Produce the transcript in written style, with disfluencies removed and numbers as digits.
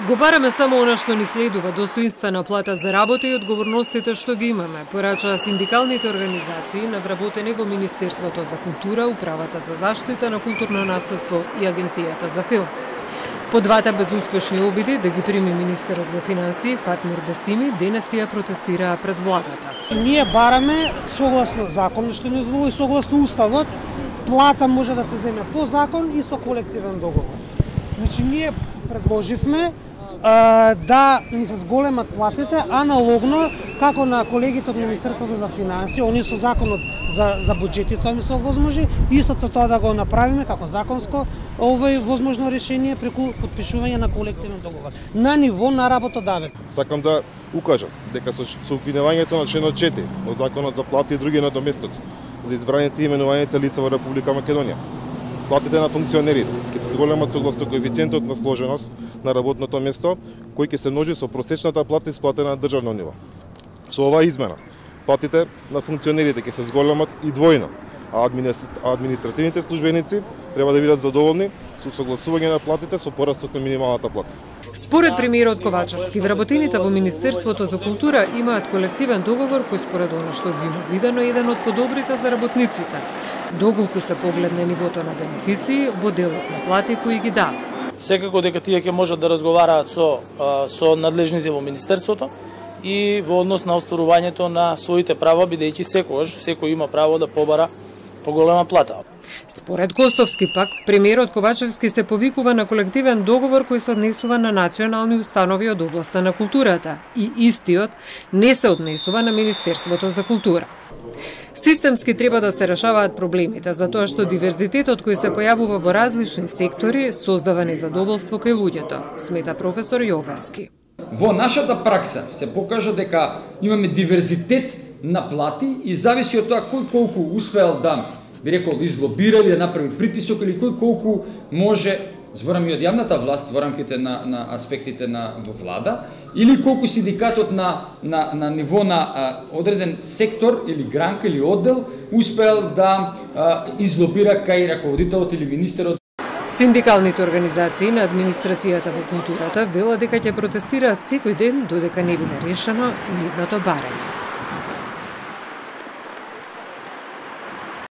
Го бараме само она што ни следува, достоинствена плата за работа и одговорностите што ги имаме, порачаа синдикалните организации навработени во Министерството за култура, Управата за заштита на културно наследство и Агенцијата за филм. По двата безуспешни обиди да ги прими министерот за финансии Фатмир Бесими, денес тие протестираа пред владата. Ние бараме согласно законот што ни дозволи, согласно уставот, плата може да се земе по закон и со колективен договор. Значи ние предложивме да ни се зголемат платите, аналогно како на колегите од Министерството за финансии, они со законот за буџетите тоа ми се овозможи, истото тоа да го направиме како законско возможно решение преку потпишување на колективен договор на ниво на работодавец. Сакам да укажам дека со укинувањето на членот 4 од Законот за плати и други надоместоци за избраните и именуваните лица во Република Македонија, платите на функционерите ќе се зголемат согласно коефициентот на сложеност на работното место, кој ќе се множи со просечната плата исплатена на државно ниво. Со оваа измена, платите на функционерите ќе се зголемат и двојно, а административните службеници треба да бидат задоволни со согласување на платите со порастот на минималната плата. Според премиерот Ковачевски, вработените во Министерството за култура имаат колективен договор кој според она што ги има видено е еден од подобрите за работниците, доколку се погледне нивото на бенефиции во делот на плати кои ги дава. Секако дека тие ќе можат да разговараат со надлежните во Министерството и во однос на остварувањето на своите права, бидејќи секој има право да побара поголема плата. Според Костовски пак, премиерот Ковачевски се повикува на колективен договор кој се однесува на национални установи од областа на културата и истиот не се однесува на Министерството за култура. Системски треба да се решаваат проблемите, затоа што диверзитетот кој се појавува во различни сектори создава незадоволство кај луѓето, смета професор Јовески. Во нашата пракса се покажа дека имаме диверзитет на плати и зависи од тоа кој колку успеал да, би рекол, излобира или да направи притисок или кој колку може, зборам и од јавната власт во рамките на аспектите во влада, или колку синдикатот на ниво на одреден сектор или гранка или оддел успеал да излобира кај раководителот или министерот. Синдикалните организации на администрацијата во културата велат дека ќе протестираат секој ден додека не биде решено нивното барање.